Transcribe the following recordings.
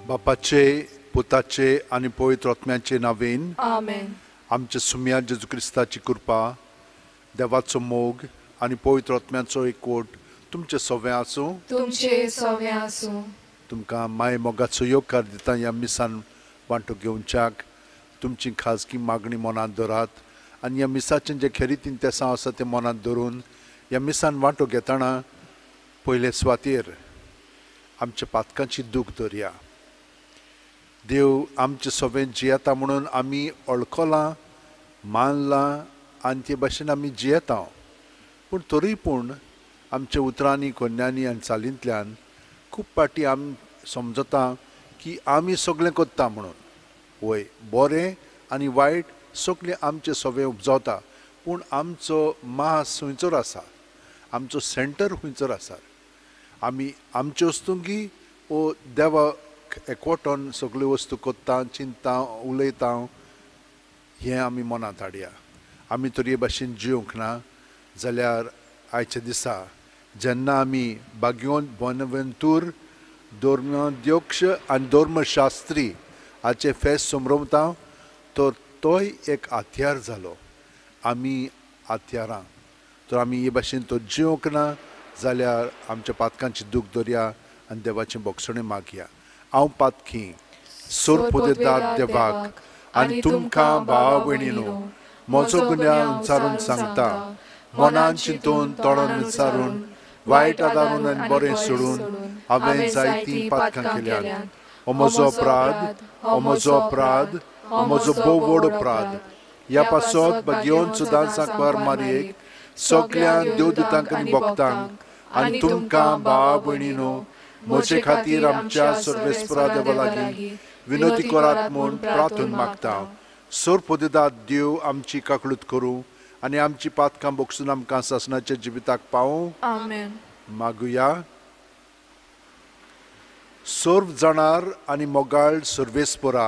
बापाचे, पुताचे आनी पवित्र आत्म्याचे नांवेन आमेन. आमच्या सुम्या जेजू क्रिस्ताची कृपा, देवाचो मोग आनी पवित्र आत्म्याचो एकवट तुमचे सवें आसूं. तुमचे सवें आसूं. तुमकां माय मोगाचो येवकार दिता. ह्या मिसान वांटो घेवच्याक तुमची खाजगी मागणी मनांत धरात आनी ह्या मिसाचें जें खेरीत तेसांव आसा तें मनांत धरून ह्या मिसान वांटो घेतना पयले सुवातेर आमच्या पातकांची दूख धरया. देव आमचे सवें जियेता म्हणून आमी वळखलां, मानलां आनी ते भाशेन आमी जियेता. पूण तरी पूण आमच्या उतरांनी, कोन्यांनी आनी चालींतल्यान खूब फावटी आमी समजता की आमी सगळें करता म्हणून. वय, बरें आनी वायट सगळें आमचें सवें उपजावता, पूण आमचो मास खंयचर आसा, आमचो सेंटर खंयचर आसा, आमी आमच्यो वस्तुंकी ओ देवा एकवटोन सगळ्यो वस्तू करता, चिंता, उलयता, हें आमी मनांत हाडया. आमी तर हे भाशेन जिवंक ना जाल्यार आयच्या दिसा जेन्ना आमी बाग्योन बोनवेंतूर धर्माध्यक्ष आनी धर्मशास्त्री हाचें फेस्त समरवता तर तोय एक हत्यार जालो. आमी हत्यारां तर आमी हे भाशेन तो जिवंक ना जाल्यार आमच्या पातकांची दूख दरया आनी देवाचें बोगसणें मागया. हांव पातकी सोरपोदेदाद देवाक आनी तुमकां भावा भयणीनो म्हजो गुन्यांव विचारून सांगता. मनान चिंतून, तोंडान विचारून, वायट आदारून आनी बरें सोडून हांवें जायतीं पातकां केल्यांत. हो म्हजो अपराध, हो म्हजो अपराध, हो म्हजो भोव व्हड अपराध. ह्या पासत भगेवन सुदां सांकवार मारयेक सगळ्या देवदूतांक आनी भक्तांक आनी तुमकां भावा भयणीनो म्हजे खातीर आमच्या सर्वेस्परा देवा लागीं विनोती करात म्हूण प्रार्थून मागता. सोरपोदेदाद देव आमची काकळूत करूं आनी आमची पातकां बोगसून आमकां सासणाच्या जिविताक पावूं. आमेन. मागुया. सर्व जाणार आनी मोगाळ सर्वेस्परा,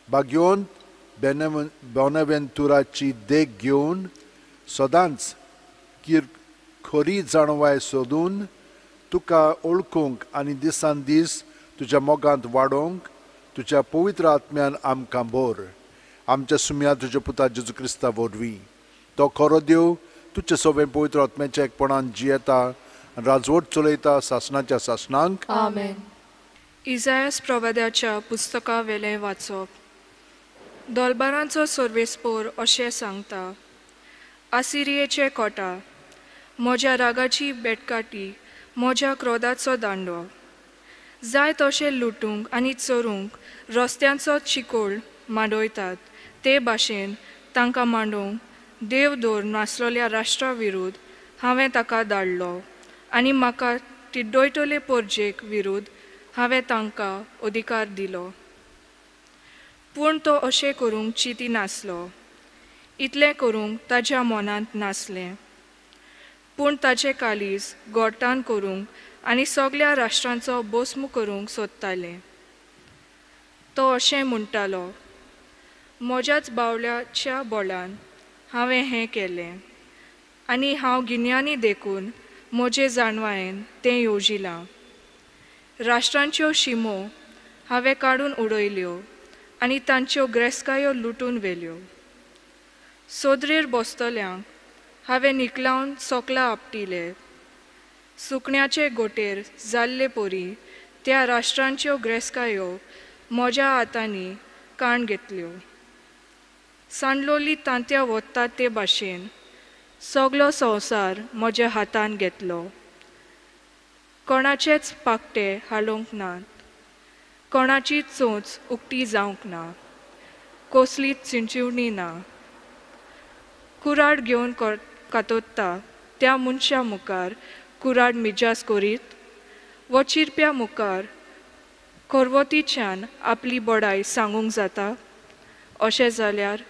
बाग्योन बोनावेंतुराची देख घेवन सदांच खरी जाणवाय सोदून तुका ओळखूंक आनी दिसान दीस तुज्या मोगांत वाडोवंक तुज्या पवित्र आत्म्यान आमकां भर. आमच्या सुम्या तुज्या पुता जेजू क्रिस्ता वरवीं तो खरो देव तुजे सवें पवित्र आत्म्याच्या एकपणान जियेता आनी राजवट चलयता सासणाच्या सासणांक. आमेन. इजायास प्रवाद्याच्या पुस्तका वेलें वाचप. दोलबारांचो सर्वेस्पोर अशें सांगता, आसिरियेचे कोटा, म्हज्या रागाची बेटकाटी, म्हज्या क्रोधाचो दांडो, जाय तशें लुटूंक आनी चोरूंक रस्त्यांचो चिकोल मांडयतात ते भाशेन तांकां मांडोवंक देव दवर नासलेल्या राष्ट्रा विरुद्ध हांवें ताका धाडलो आनी म्हाका तिड्डयतले पोरजेक विरुद्ध हांवें तांकां अधिकार दिलो. पूण तो अशें करूंक चिंती नासलो, इतलें करूंक ताज्या मनांत नासलें. पूण ताचें कालीज गोठान करूंक आनी सगळ्या राष्ट्रांचो भस्म करूंक सोदतालें. तो अशें म्हणटालो, म्हज्याच बावल्याच्या बळान हांवें हें केलें आनी हांव गिन्यानी देखून म्हजे जाणवायेन तें येवजिलां. राष्ट्रांच्यो शिमो हांवें काडून उडयल्यो आनी तांच्यो ग्रेस्कायो लुटून व्हेल्यो. सोदरेर बसतल्यांक हांवें निकलावन सोकला आपटिले. सुकण्याचे गोटेर जाल्ले परी त्या राष्ट्रांच्यो ग्रेस्कायो म्हज्या हातांनी काण घेतल्यो. सांडलोली तांत्या वता ते भाशेन सगलो संवसार म्हज्या हातान घेतलो. कोणाचेच पाकटे हालोवंक नात, कोणाची चोंच उक्ती जावंक ना, कसलीच चिंचिवणी ना. कुराड घेवन कातोत्ता त्या मनशा मुखार कुराड मिजास करीत वो चिरप्या मुखार खरवतीच्यान आपली बडाय सांगूंक जाता. अशें जाल्यार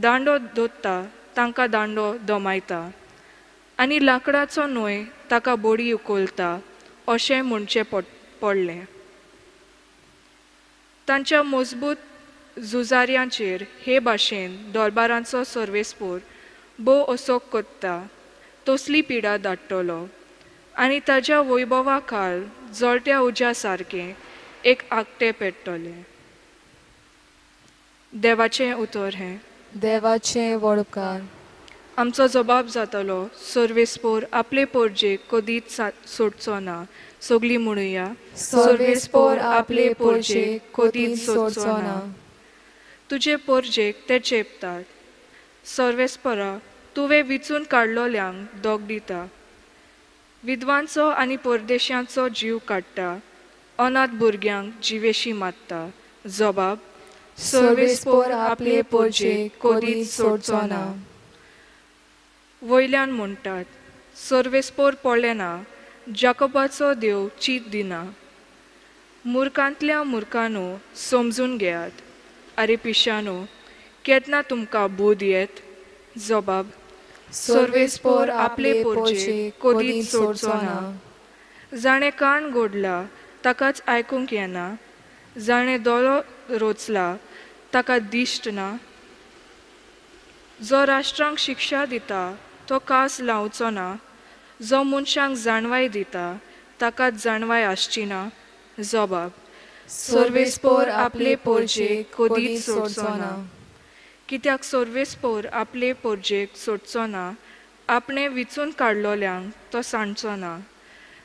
दांडो दोत्ता तांकां दांडो दमायता आनी लांकडाचो न्हय ताका बोडी उखलता अशें म्हणचें पडलें. तांच्या मजबूत झुजाऱ्यांचेर हे भाशेन दरबारांचो सर्वेस्पोर भोव असोक कोत्ता तसली पिडा धाडटलो आनी ताज्या वैभवा खाल जळट्या उज्या सारकें एक आगटें पेट्टलें. देवाचें उतर हें. देवाचें वळकार. आमचो जबाब जातलो, सर्वेस्पोर आपले पोरजेक कदीच सोडचो ना. सगळीं म्हणुया, सर्वेस्पोर आपले पोरजेक कदीच सोडचो ना. तुजे पोरजेक ते चेपतात. सर्वेस्परा, तुवें विचून काडलोल्यांक दोग दिता. विद्वांचो आनी परदेशांचो जीव काडटा, अनाथ भुरग्यांक जिवेशी मारता. जबाब, सर्वेस्पोर आपले पोरजेक कदीच सोडचो ना. वयल्यान म्हणटात, सर्वेस्पोर पळयना, जाकोबाचो देव चीत दिना. मुर्खांतल्या मुर्खांनो समजून घेयात. आरे पिशानो, केन्ना तुमकां बूद येत? जबाब, सर्वेस्पोर आपले पोरजेक कदीच सोडचो ना. जाणें कान गोडला ताकाच आयकूंक येना, जाणें दोळो रोचला ताका दिश्ट ना. जो राष्ट्रांक शिक्षा दिता तो कास लावचो ना, जो मनशांक जाणवाय दिता ताकाच जाणवाय आसची ना. जबाब, सर्वेस्पोर आपले पोरजेक कदीच सोडचो ना. कित्याक सर्वेस्पोर आपले पोरजेक सोडचो ना, आपणें विचून काडलोल्यांक तो सांडचो ना.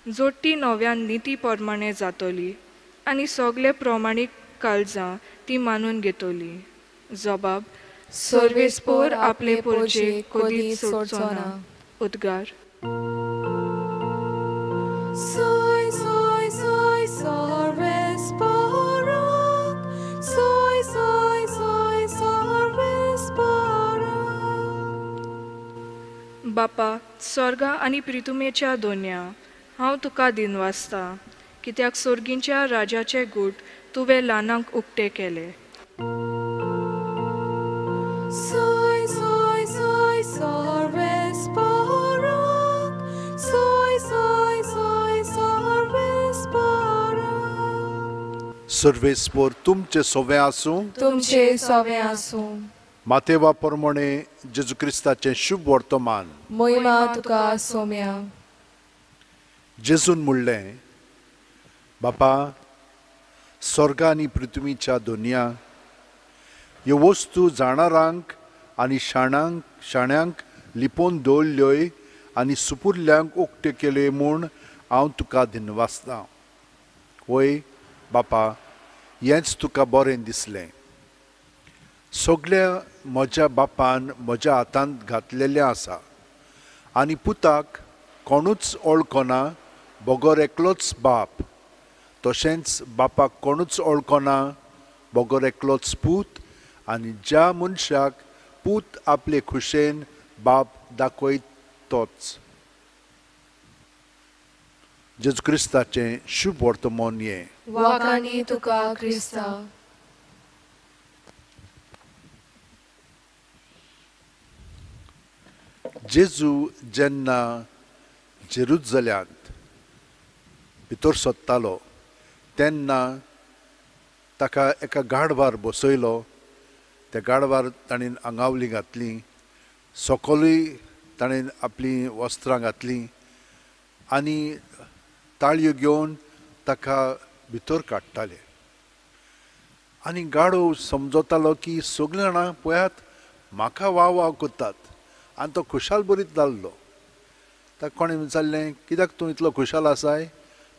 जोडटी नव्यान निती प्रमाणे जातली आनी सगळे प्रमाणीक काळजां ती मानून घेतली. जबाब, सर्वेस्पोर आपले पोरजेक कदीच सोडचो ना. उद्गार. सोय सोय सोय सर्वेस्पोराक, सोय सोय सोय सर्वेस्पोराक. बापा, स्वर्गा आनी प्रितुमेच्या दोन्या, हांव तुका दिनवासता, कित्याक सोर्गींच्या राजाचे गूट तुवें ल्हानांक उक्ते केले. सोय सोय सोय सर्वेस्पोराक, सोय सोय सोय सर्वेस्पोराक. सर्वेस्पोर तुमचे सोवे आसूं, तुमचे सोवे आसूं. मातेवा प्रमाणे जेजू क्रिस्ताचें शुभ वर्तमान. मोहिमा तुका सोम्या. जेजून म्हणलें, बापा, स्वर्गा आनी पृथ्वीच्या दोनया ह्यो वस्तू जाणारांक आनी शाण्यांक लिपोवन दवरल्योय आनी सुपुरल्यांक उक्त्यो केल्यो म्हूण हांव तुका दिनवासतां. वय बापा, हेंच तुका बरें दिसलें. सगळ्या म्हज्या बापान म्हज्या हातांत घातलेलें आसा आनी पुताक कोणूच वळखना बगर एकलोच बाप, तशेंच बापाक कोणूच वळखना बगर एकलोच पूत, आनी ज्या मनशाक पूत आपले खुशेन बाप दाखयत तोच. जेजू क्रिस्ताचें शुभ वर्तमान हें. वाखाणी तुका क्रिस्ता. जेजू जेन्ना जेरुजल्यांत भितर सोदतालो तेन्ना ताका एका गाडवार बसयलो. त्या गाडवार ताणें आंगावली घातली, सकलूय ताणें आपलीं वस्त्रां घातलीं आनी ताळयो घेवन ताका भितर काडटाले. आनी गाडो समजतालो की सगळीं जाणां पळयात म्हाका वाव वाव करतात, आनी तो खुशाल बरीत जाल्लो. ताका कोणें विचारलें, कित्याक तूं इतलो खुशाल आसाय?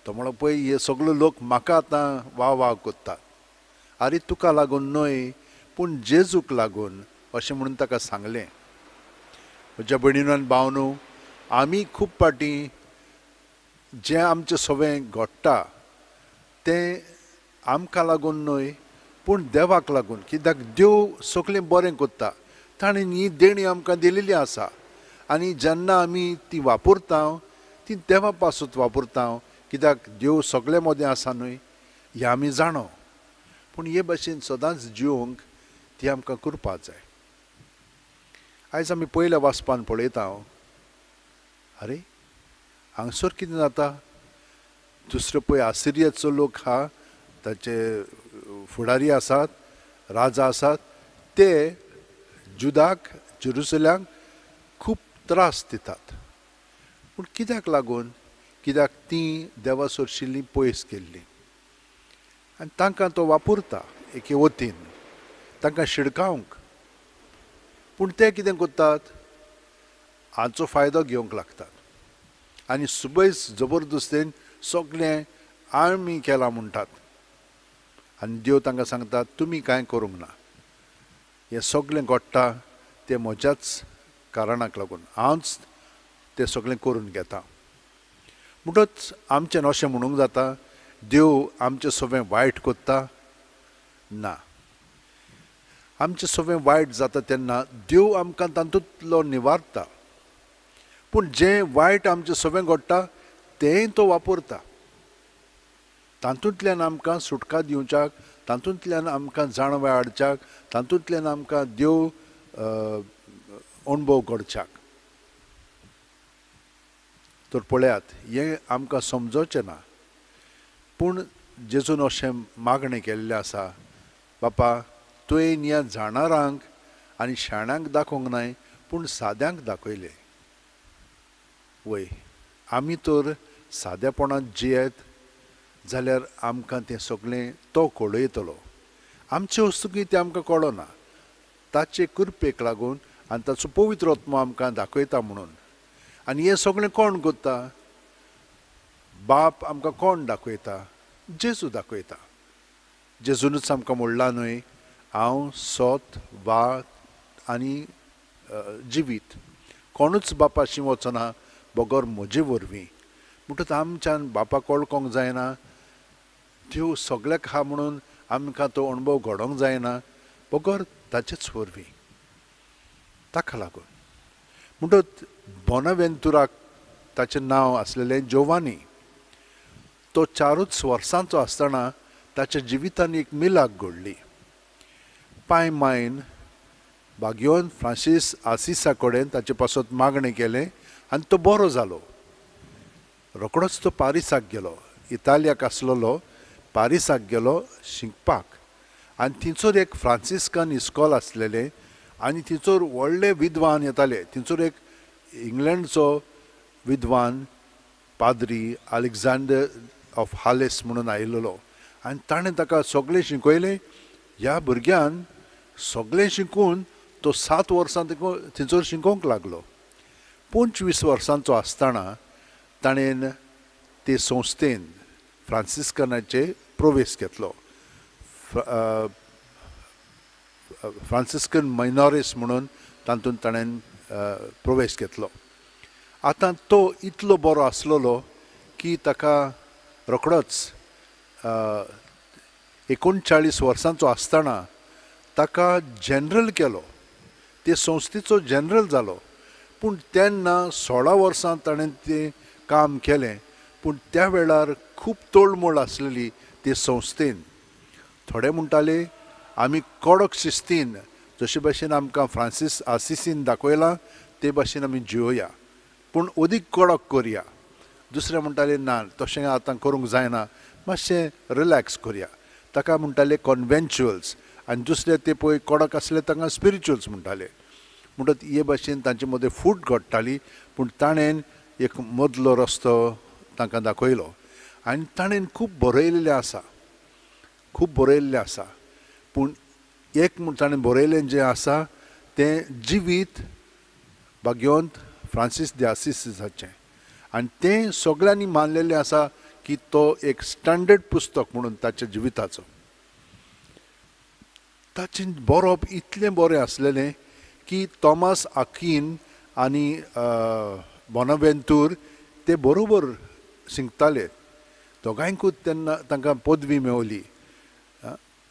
तो म्हणलो, पळय हे सगळे लोक म्हाका आतां वाव वाव करतात. आरे तुका लागून न्हय पूण जेजूक लागून, अशें म्हणून ताका सांगलें. म्हज्या भयणीनो आनी भावनो, आमी खूब फावटी जें आमचें सगळें घडटा तें आमकां लागून न्हय पूण देवाक लागून, कित्याक देव सगळें बरें करता. ताणें ही देणी आमकां दिलेली आसा आनी जेन्ना आमी ती वापरता ती देवा पासून वापरता, कित्याक देव सगळे मदें आसा न्हय, हें आमी जाणो. पूण हे भाशेन सदांच जिवंक ती आमकां करपाक जाय. आयज आमी पयल्या वाचपान पळयता, आरे हांगसर कितें जाता, दुसरो पळय आसिरियाचो लोक आहा, ताचे फुडारी आसात, राजा आसात, ते जुदाक जेरुसलेमाक खूब त्रास दितात. पूण कित्याक लागून? कित्याक ती देवा सरशिल्लीं पयस गेल्लीं. आनी तांकां तो वापरता एके वतीन तांकां शिडकावंक. पूण ते कितें करतात, हाचो फायदो घेवंक लागतात आनी सुबयस जबरदस्तेन सगळें आमी केलां म्हणटात. आनी देव तांकां सांगता तुमी कांय करूंक ना, हें सगळें घडटा तें म्हज्याच कारणाक लागून, हांवच तें सगळें करून घेता. म्हणटच आमचें अशें म्हणूंक जाता देव आमचें सगळें वायट करता? ना, आमचें सगळें वायट जाता तेन्ना देव आमकां तातूंतलो निवारता, पूण जें वायट आमचें सगळें घडटा तेंय तो वापरता. तातूंतल्यान आमकां सुटका दिवच्याक, तातूंतल्यान आमकां जाणवाय हाडच्याक, तातूंतल्यान आमकां देव अणभव घडच्याक. तर पळयात हें आमकां समजोचें ना, पूण जेजून अशें मागणें केल्लें आसा, बापा तुवें ह्या जाणारांक आनी शाण्यांक दाखोवंक नाय पूण साद्यांक दाखयलें. वय, आमी तर सादेपणांत जियेत जाल्यार आमकां तें सगळें तो कळयतलो. आमचे वस्तुकी तें आमकां कळना, ताचे कृपेक लागून आनी ताचो पवित्र आत्मो आमकां दाखयता म्हणून. आनी हें सगळें कोण करता? बाप आमकां कोण दाखयता? जेजू दाखयता. जेजूनच आमकां म्हणलां न्हय, हांव सोत वात आनी जिवीत, कोणूच बापाशी वचना बगर म्हजे वरवीं. म्हणटच आमच्यान बापाक वळखोंक जायना, देव सगळ्याक आहा म्हणून आमकां तो अणभव घडोवंक जायना बगर ताचेच वरवीं, ताका लागून. म्हणटच बोनावेंतुराक ताचें नांव आसलेलें जोवानी. तो 4 वर्सांचो आसतना ताच्या जिवितान एक मिलाक घडली. पाय मायन बाग्योन फ्रांसीस आसिसा कडेन ताचे पासत मागणें केलें आनी तो बरो जालो. रोकडोच तो पारिसाक गेलो, इतालियाक आसलेलो पारिसाक गेलो शिकपाक. आनी थंयसर एक फ्रांसिस्कन इस्कॉल आसलेलें आनी थंयसर व्हडले विद्वान येताले. थंयसर एक इंग्लंडचो विद्वान पाद्री अलेक्झांडर ऑफ हालेस म्हणून आयिल्लो आनी ताणें ताका सगळें शिकयलें. ह्या भुरग्यान सगळें शिकून तो 7 वर्सां थंयसर शिकोवंक लागलो. 25 वर्सांचो आसतना ताणें ते संस्थेन फ्रांसिस्कनाचे प्रवेश घेतलो. फ्रांसिस्कन मायनॉरिस म्हणून तातूंत ताणें प्रवेश घेतलो. आतां तो इतलो बरो आसलेलो की ताका रोकडोच 39 वर्सांचो आसतना ताका जनरल केलो, ते संस्थेचो जनरल जालो. पूण तेन्ना 16 वर्सां ताणें तें काम केलें, पूण त्या वेळार खूब तोळमोळ आसलेली ते संस्थेन. थोडे म्हणटाले आमी कडक शिस्तीन जशे भाशेन आमकां फ्रांसीस आसिसीन दाखयलां ते भाशेन आमी जियोया, पूण अदीक कडक करया. दुसरे म्हणटाले ना, तशें आतां करूंक जायना, मातशें रिलॅक्स करया. ताका म्हणटाले कॉन्वेंच्युअल्स आनी दुसरे ते पळय कडक आसले तांकां स्पिरिच्युअल्स म्हणटाले. म्हणटच हे भाशेन तांचे मदें फूट घडटाली, पूण ताणें एक मदलो रस्तो तांकां दाखयलो आनी ताणें खूब बरयलेलें आसा, खूब बरयल्लें आसा. पूण एक म्हूण ताणें बरयलें जें आसा तें जिवीत भाग्यवंत फ्रांसीस दे आसिसाचें, आनी तें सगळ्यांनी मानलेलें आसा की तो एक स्टँडर्ड पुस्तक म्हणून ताच्या जिविताचो. ताचें बरोवप इतलें बरें आसलेलें की थॉमस आकीन आनी बोनावेंतूर ते बरोबर शिकताले. दोगांयकूच तेन्ना तांकां पदवी मेवली.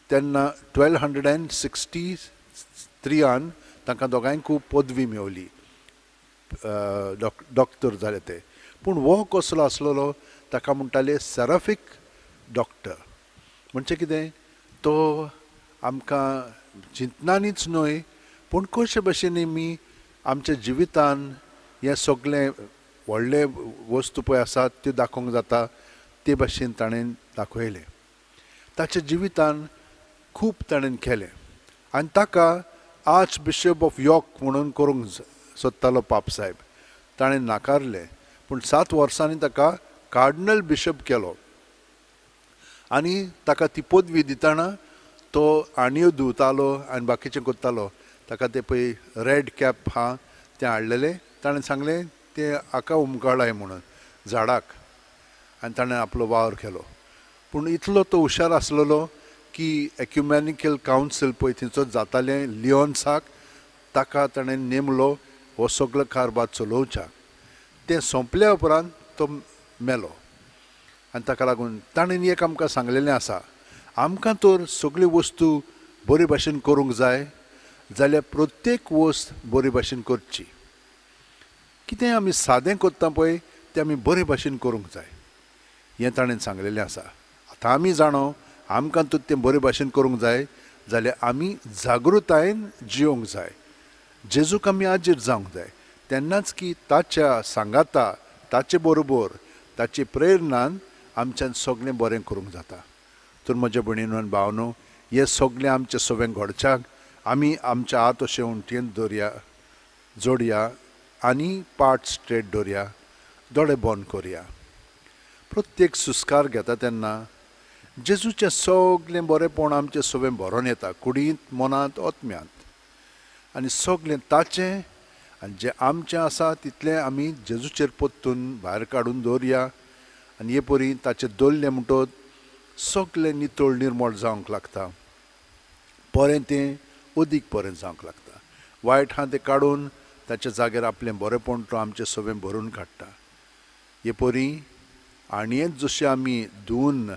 तेन्ना 1263 तांकां दोगांयकूय पदवी मेवली, डॉक्टर जाले ते. पूण हो कसलो आसलेलो, ताका म्हणटाले सेराफीक डॉक्टर. म्हणजे कितें, तो आमकां चिंतनानीच न्हय पूण कशे भशेन आमी आमच्या जिवितान हें सगळें व्हडले वस्तू पळय आसात त्यो दाखोवंक जाता ते भाशेन ताणें दाखयलें. ताच्या जिवितान खूब ताणें केलें आनी ताका आर्च बिशप ऑफ यॉर्क म्हणून करूंक सोदतालो पाप साहेब, ताणें नाकारलें. पूण 7 वर्सांनी ताका कार्डिनल बिशप केलो आनी ताका ती पदवी दितना तो आणयो धुवतालो आनी बाकीचें करतालो. ताका तें पळय रेड कॅप आहा तें हाडलेलें, ताणें सांगलें तें हाका उमकाळाय म्हणून झाडाक, आनी ताणें आपलो वावर केलो. पूण इतलो तो हुशार आसलेलो की एक्युमॅनिकल कावन्सील पळय थंयचो जातालें लियोन्साक, ताका ताणें नेमलो हो सगलो कारभार चलोवच्याक. तें सोंपल्या उपरांत तो मेलो. आनी ताका लागून ताणें एक आमकां सांगलेलें आसा, आमकां तर सगळ्यो वस्तू बरे भाशेन करूंक जाय जाल्यार प्रत्येक वस्त बरे भाशेन करची. कितें आमी सादें करता पळय तें आमी बरे भाशेन करूंक जाय, हें ताणें सांगलेलें आसा. आतां आमी जाणो आमकां तर तें बरे भाशेन करूंक जाय जाल्यार आमी जागृतायेन जियोंक जाय, जेजूक आमी आजीर जावंक जाय. तेन्नाच की ताच्या सांगाता, ताचे बरोबर, ताचे प्रेरणान आमच्यान सगळें बरें करूंक जाता. तर म्हज्या भयणीनो आनी भावनो, हें सगळें आमचें सगळें घडच्याक आमी आमच्या हात अशें उंटयेन दवरया, जोडया आनी पाट स्ट्रेट दवरया, दोळे बंद करया. प्रत्येक सुस्कार घेता तेन्ना जेजूचें सगळें बरेंपण आमचें सगळें भरोन येता, कुडींत, मनांत, आत्म्यांत, आनी सगळें ताचें आनी जें आमचें आसा तितलें आमी जेजूचेर परतून भायर काडून दवरया. आनी हे परी ताचें दवरलें म्हणटकच सगळें नितळ निर्मळ जावंक लागता, बरें तें अदीक बरें जावंक लागता. वायट आहा तें काडून ताच्या जाग्यार आपलें बरेंपण तो आमचें सगळें भरून काडटा. हे परी आणयेंत जशें आमी धुवन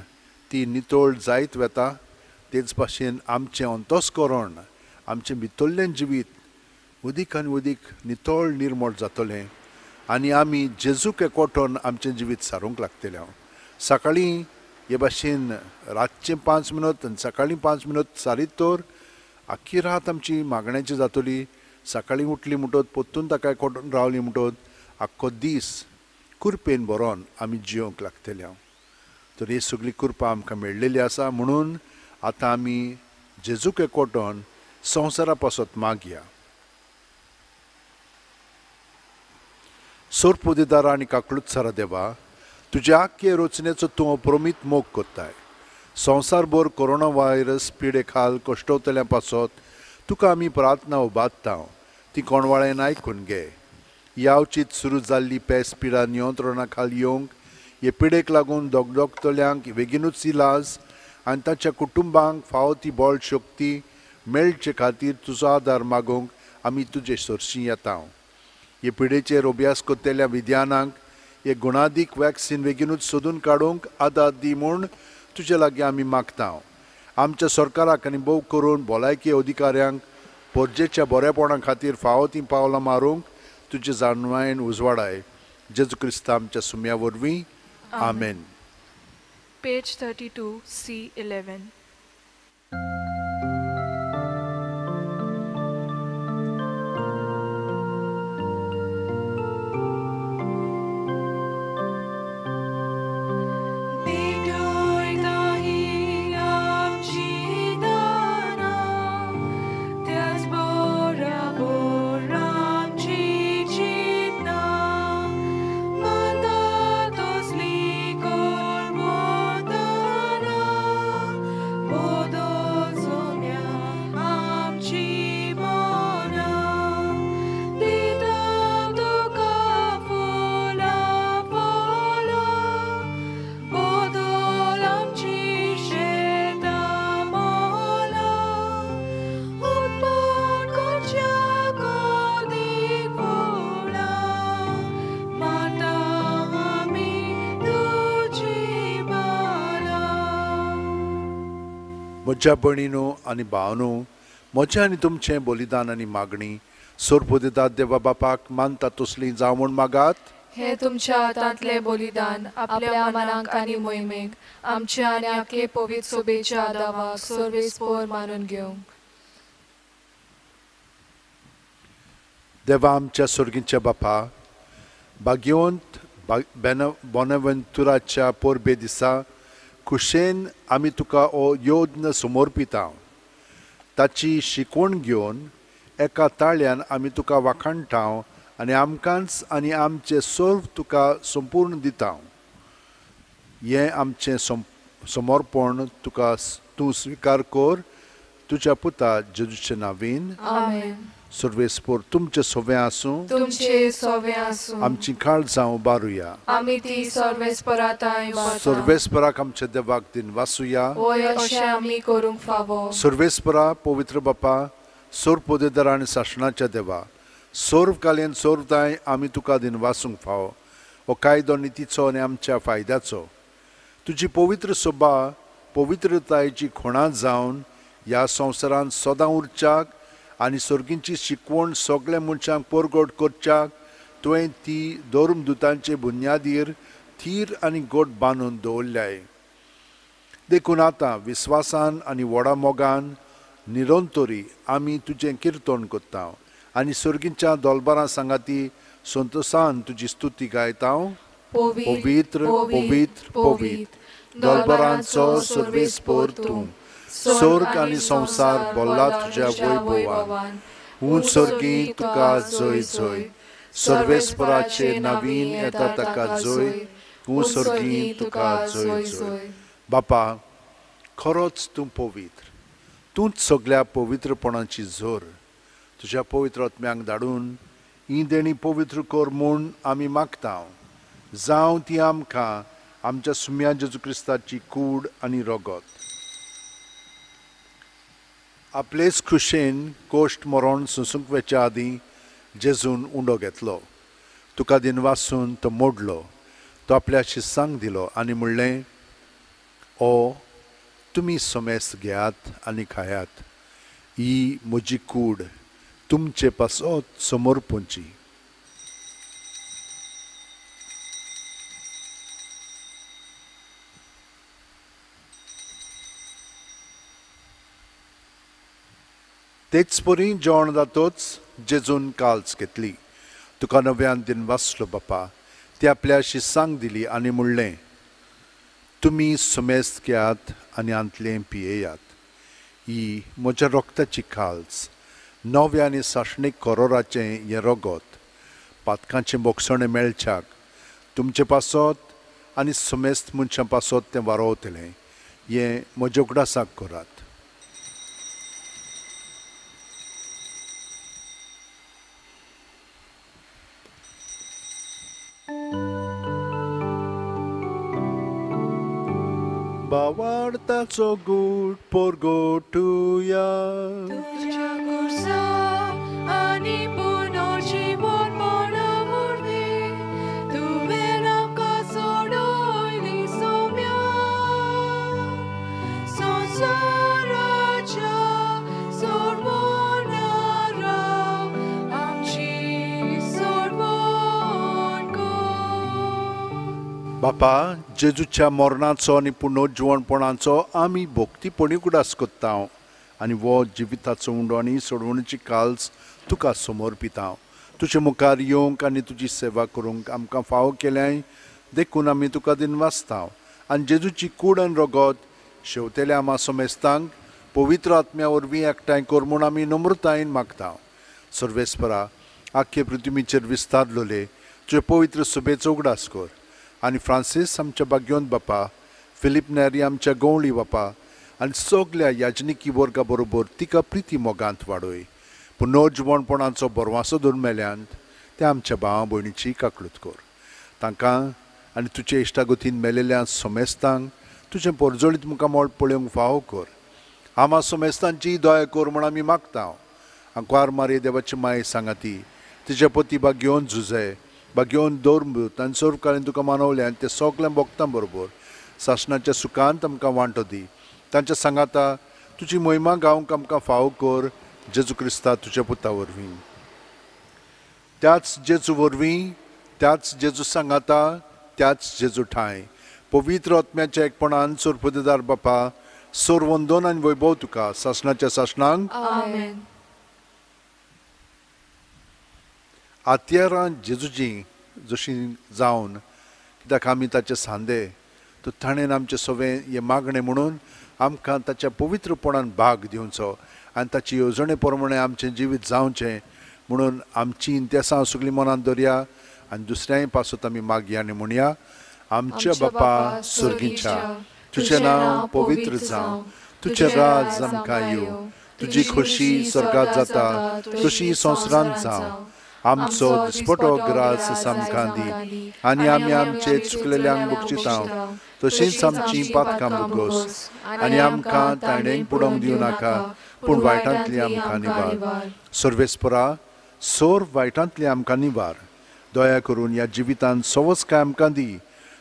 ती नितळ जायत वता, तेच भाशेन आमचें अंतस्करण, आमचें भितरलें जिवीत अदीक आनी अदीक नितळ निर्मळ जातलें आनी आमी जेजूक एकवटून आमचें जिवीत सारूंक लागतलें. हांव सकाळीं हे भाशेन रातचें 5 मिनट आनी सकाळीं 5 मिनट सारीत तर आख्खी रात आमची मागण्याची जातली. सकाळीं उठली म्हणटकच परतून ताका एकवटून रावली म्हणटकच आख्खो दीस कुरपेन भरोन आमी जियोंक लागतले. हांव तर ही सगळी कृपा आमकां मेळ्ळेली आसा म्हणून आतां आमी जेजूक एकवटून संवसारा पासत मागया. सोरपुदेदारा आनी काकळूतसारा देवा, तुज्या आख्खे रचनेचो तूं अप्रमीत मोग करताय. संवसारभर कोरोना व्हायरस पिडे खाल कश्टवतल्या पासत तुका आमी प्रार्थना उबारता, ती कोणवाळ्यान आयकून घे. यावचीत सुरू जाल्ली पेस पिडा नियंत्रणा खाल येवंक, हे पिडेक लागून दगदगतल्यांक बेगीनूच इलाज आनी ताच्या कुटुंबांक फावो ती बळ शक्ती मेळचे खातीर तुजो आदार मागूंक आमी तुजे सरशीं येता. हे पिडेचेर अभ्यास करतल्या विज्ञानांक हे गुणादीक वॅक्सिन बेगीनूच सोदून काडूंक आदार दी म्हूण तुजे लागीं आमी मागता. आमच्या सरकाराक आनी भोव करून भलायकी अधिकाऱ्यांक पोरजेच्या बरेपणा खातीर फावो तीं पावलां मारूंक तुजे जाणवायेन उजवाडाय. जेजू क्रिस्ता आमच्या सुम्या वरवीं, आमेन. Page 32, C11. म्हज्या भयणीनो आनी भावनो, म्हजें आनी तुमचें बलिदान आनी मागणी सोरपोदेतात देवा बापाक मानता तसली जावं म्हूण मागात. हे तुमच्या हातांतलें बलिदान आपल्या मनाक आनी मोहिमेक आमच्या आनी आखे पवित्र सोबेच्या दावाक सर्वेस्पोर मानून घेवंक. देवा आमच्या सोर्गीच्या बापा, भाग्यवंत बोनावेंतुराच्या परबे दिसा खुशेन आमी तुका हो यज्ञ समर्पिता. ताची शिकवण घेवन एका ताळ्यान आमी तुका वाखाणटा आनी आमकांच आनी आमचें सर्व तुका संपूर्ण दिता. हें आमचें समर्पण तुका तूं स्विकार कर तुज्या पुता जेजूचे नावीन। आमेन। सर्वेस्पोर तुमचे सोवे आसूं, तुमचे सोवे आसूं। आमची काळजां उबारुया, आमी ती सर्वेस्पराताय सर्वेस्पराक आमच्या देवाक दिन वासुया, वय अशें आमी करूंक फावो। सर्वेस्परा पवित्र बापा, सोर पोदेदार आनी सासणाच्या देवा, सर्व कालेन सर्वताय आमी तुका दिन वासूंक फावो। हो कायदो नितीचो आनी आमच्या फायद्याचो। तुजी पवित्र सभा पवित्रतायेची खुणा जावन ह्या संवसारांत सदां उरच्याक आनी सर्गींची शिकवण सगळ्या मनशांक परगट करच्याक तुवें ती धर्मदुतांचे बुन्यादीर थीर आनी गोट बांदून दवरल्याय। देखून आतां विस्वासान आनी व्हडा मोगान निरंतरी आमी तुजें किर्तन करता आनी सर्गींच्या दोलबारां सांगाती संतोसान तुजी स्तुती गायता। पवित्र पवित्र पवित्र दोलबारांचो सर्वेस्पोर तूं, स्वर्ग आनी संवसार भरला तुज्या वैभवान। ऊंच सर्गी तुका जय जय, सर्वेस्पराचे नवीन येता ताका जय, ऊंच सर्गी तुका जय जय। बापा, खरोच तूं पवित्र, तूंच सगळ्या पवित्रपणाची जोर। तुज्या पवित्र आत्म्यांक धाडून ही देणी पवित्र कर म्हूण आमी मागता। जावं ती आमकां आमच्या सुम्या जेजू क्रिस्ताची कूड आनी रगत। आपलेच खुशेन कोश्ट मरण सोंसूंक वेच्या आदीं जेजून उंडो घेतलो, तुका दिनवासून तो मोडलो, तो आपल्या शिसांक दिलो आनी म्हणलें, ओ तुमी समेस्त घेयात आनी खायात, ही म्हजी कूड तुमचे पासत समर्पणची। तेच परी जेवण जातोच जेजून काल्स घेतली, तुका नव्यान दिन वाचलो बापा, ती आपल्या शिसांक दिली आनी म्हणलें, तुमी समेस्त घेयात आनी आंतलें पियेयात, ही म्हज्या रोगताची काल्स, नव्या आनी सासणीक करोराचें हें रगत, पातकांचें बोगसणें मेळच्याक तुमचे पासत आनी समेस्त मनशां पासत तें वारोवतलें, हें म्हज्या उगडासाक करात। बावार्थाचो गूट परगटुया, तुज्या खुर्सा आनी पुनर्जीवनपणा वरवीं तुवें आमकां सोडयली सोम्या, संवसाराच्या सोडवणारा आमची सोडवण कर। बापा, जेजूच्या मरणाचो आनी पुनर्जिवणपणाचो आमी भक्तीपणी उगडास करता आनी वो जिविताचो उंडो आनी सोडवणीची काल्स तुका समर्पिता। तुजे मुखार येवंक आनी तुजी सेवा करूंक आमकां फावो केल्याय देखून आमी तुका दिनवासता आनी जेजूची कूड आनी रगत शेवतेल्या आमा समेस्तांक पवित्र आत्म्या वरवीं एकठांय कर म्हूण आमी नम्रतायेन मागता। सर्वेस्परा, आख्खे पृथ्वीचेर विस्तारलोले तुजे पवित्र सभेचो उगडास कर आनी फ्रांसीस आमच्या भाग्योन बापा, फिलीप नेरी आमच्या गवळी बापा आनी सगल्या याजनिकी वर्गा बरोबर तिका प्रिती मोगांत वाडय। पुनर्जिवणपणाचो बरवासो धरून मेल्यांत त्या आमच्या भावा भयणीची काकळूत कर, तांकां आनी तुजे इश्टागतीन मेलेल्या समेस्तांक तुजें परजळीत मुखामळ पळोवंक फावो कर। आमा समेस्तांची दया कर म्हूण आमी मागता। आंकवार मारये देवाची माये सांगाती तिजे पती भाग्योन झुजे भाग्योन दौर तांचे सर्वकाळीन तुका मानवलें आनी ते सगळ्या भक्तां बरोबर सासणाच्या सुखांत आमकां वांटो दी। तांच्या सांगाता तुजी महिमा गावंक आमकां फावो कर, जेजू क्रिस्ता तुज्या पुता वरवीं। त्याच जेजू वरवीं, त्याच जेजू सांगाता, त्याच जेजू ठांय पवित्र आत्म्याच्या एकपणान सोरपदेदार बापा, सोर वंदन आनी वैभव तुका सासणाच्या सासणांक। आमेन। आत्यारां जेजूजी जशी जावन कित्याक आमी ताचे सांदे तर ताणें आमचें सगळें हें मागणें म्हणून आमकां ताच्या पवित्रपणान भाग दिवचो आनी ताची येवजणे प्रमाणे आमचें जिवीत जावचें म्हणून आमची इंतेसां सगळीं मनांत दवरया आनी दुसऱ्याय पासत आमी मागया आनी म्हणया, आमच्या बापा सर्गीच्या, तुझें नांव पवित्र जावं, तुजें राज आमकां येवं, तुजी खोशी स्वर्गात जाता तशी संवसारांत जावं. आमचो दिसपटो ग्रास आमकां दी आनी आमी आमचे चुकलेल्यांक बक्षिता तशींच आमची पातकां बोगोस आनी आमकां ताणेंक पुडोवंक दिवं नाका, पूण वायटांतली आमकां निवार. सर्वेस्परा, सोर वायटांतली आमकां निवार. दया करून ह्या जिवितांत सवस्काय आमकां दी.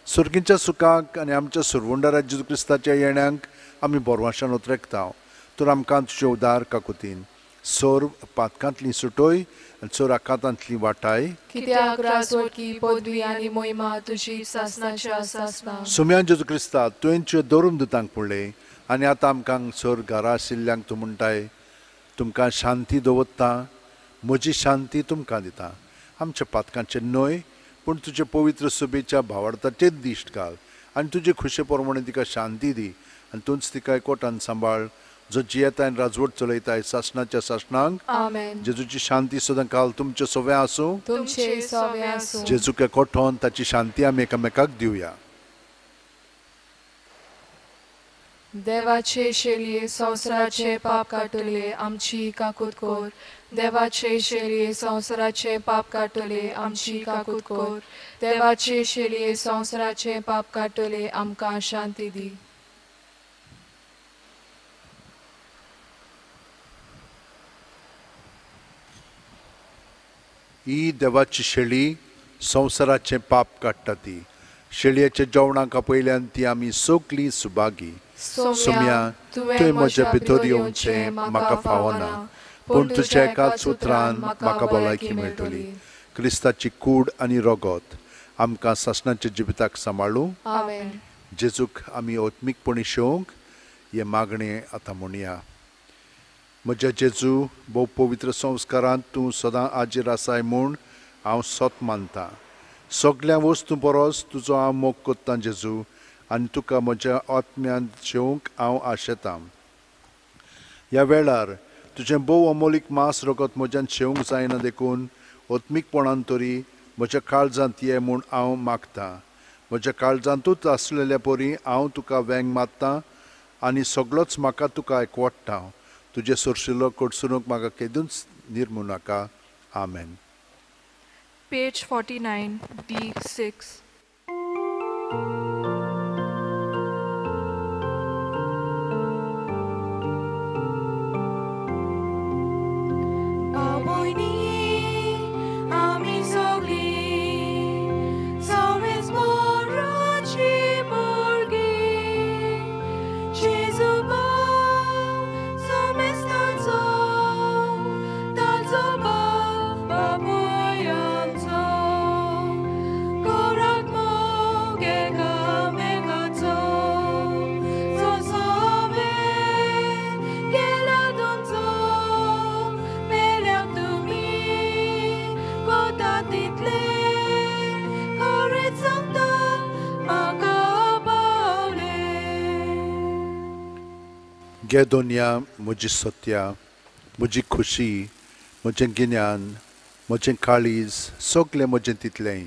सुर्गीच्या सुखाक आनी आमच्या सुरवंडारा जेजू क्रिस्ताच्या येण्यांक आमी बोरवाशान उतरेकता. तर आमकां तुजे उदार काकुतीन सोर पातकांतली सुटोय आनी सोर आकांतांतली वाटाय. कित्याक राजवटकी पदवी आनी मोहिमा तुजी सासणाच्या सासणा. सुम्यान जेजू क्रिस्ता, तुवें तुज्या दरून दुतांक पळय आनी आतां आमकां सोर घरा आशिल्ल्यांक तूं म्हणटाय, तुमकां शांती दवरता, म्हजी शांती तुमकां दिता. आमच्या पातकांचें न्हय पूण तुजे पवित्र सभेच्या भावार्थाचेच दिश्ट घाल आनी तुजे खुशे प्रमाणे तिका शांती दी आनी तूंच तिका एकवटान सांबाळ, जो जियेताय आनी राजवट चलयताय सासणाच्या सासणांक. आमेन. जेजूची शांती सदां काल तुमचे सवे आसूं. तुमचे सवे आसूं. जेजूक एकवटोन ताची शांती आमी एकामेकाक दिवया. देवाचे शेलये संवसाराचे पाप काडटले आमची काकूत कर. देवाचे शेलये संवसाराचे पाप काडटले आमची काकूत कर. देवाचे शेलये संवसाराचे पाप काडटले आमकां शांती दी. ही देवाची शेळी संवसाराचें पाप काडटा. ती शेळयेच्या जेवणाक आपयल्यान ती आमी सगळीं सुभागी. सोम्या, तुवें म्हज्या भितर येवचें म्हाका फावना, पूण तुज्या एकाच उतरान म्हाका भलायकी मेळटली. क्रिस्ताची कूड आनी रगत आमकां सासणाच्या जिविताक सांबाळूं. जेजूक आमी आत्मीकपणी शेवंक हें मागणें आतां म्हणया. म्हज्या जेजू, भोव पवित्र संस्कारांत तूं सदां आजीर आसाय म्हूण हांव सत मानतां. सगळ्या वस्तूं परस तुजो हांव मोग करतां जेजू, आनी तुका म्हज्या आत्म्यांत शेवंक हांव आशेतां. ह्या वेळार तुजें भोव अमोलीक मांस रगत म्हज्यान शेवंक जायना देखून आत्मीकपणान तरी म्हज्या काळजांत ये म्हूण हांव मागतां. म्हज्या काळजांतूच आसलेल्या परी हांव तुका वेंग मारतां आनी सगळोच म्हाका तुका एकवटता. तुजें सोरशिल्लो कडसुनूक म्हाका केदूच निर्मू नाका. आमेन. Page 49, D6. गे दोनया, म्हजी सत्या, म्हजी खुशी, म्हजें गिन्यान, म्हजें काळीज, सगळें म्हजें तितलेंय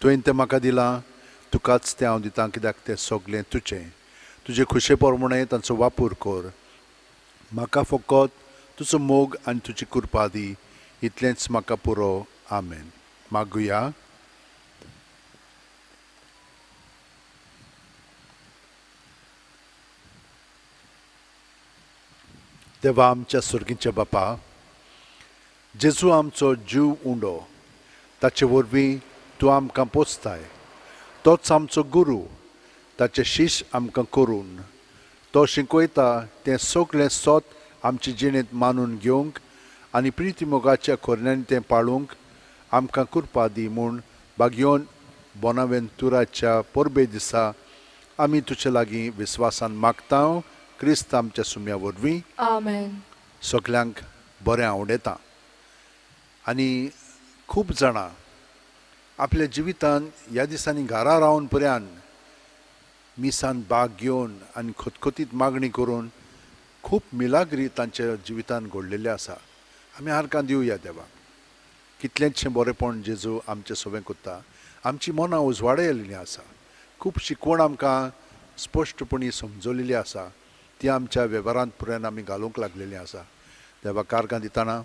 तुवें तें म्हाका दिलां, तुकाच तें हांव दितां, कित्याक तें सगळें तुजें. तुजे खुशे प्रमाणे तांचो वापर कर. म्हाका फकत तुजो मोग आनी तुजी कृपा दी, इतलेंच म्हाका पुरो. आमेन. मागुया. देवा आमच्या सुर्गीच्या बापा, जेजू आमचो जीव उंडो, ताचे वरवीं तूं आमकां पोसताय. तोच आमचो गुरू, ताचे शीश आमकां करून तो शिकयता तें सगळें सत आमचे जिणेंत मानून घेवंक आनी प्रिती मोगाच्या खोरण्यांनी तें पाळूंक आमकां कृपा दी म्हूण बागयोन बोनावेंतुराच्या परबे दिसा आमी तुजे लागीं विस्वासान मागता, क्रिस्त आमच्या सुम्या वरवीं. आमेन. सगल्यांक बरें आवडटा. आनी खूब जाणां आपल्या जिवितान ह्या दिसांनी घरा रावन पर्यान मिसान बाग घेवन आनी खतखतीत मागणी करून खूब मिलाग्री तांच्या जिवितान घडलेले आसा. आमी हारकां दिवया देवाक. कितलेंचशें बरेंपण जेजू आमचें सवें करता. आमची मनां उजवाडा येयल्लीं आसा. खूब शिकवण आमकां स्पश्टपणी समजलेली आसा, ती आमच्या वेव्हारांत पुरायन आमी घालूंक लागलेली आसा. देवा कारगां दितना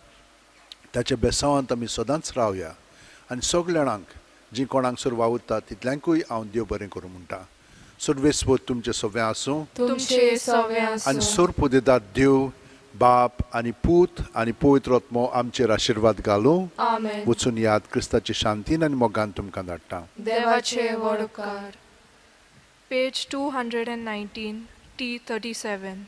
ताच्या बेसांवांत आमी सदांच रावया आनी सगल्या जाणांक जी कोणाक वावुरता तितल्यांकूय हांव देव बरें करूं म्हणटा. सर्वेस्वर तुमचें सगळें आसूं तुमचे सगळें आसूं. आनी सर्वपुदेदात देव बाप आनी पूत आनी पवित्र आत्मो आमचेर आशिर्वाद घालूं. आमेन. वचून याद क्रिस्ताची शांतीन आनी मोगान तुमकां धाडटा. देवाचे व्हड उपकार. Page 219, T 37.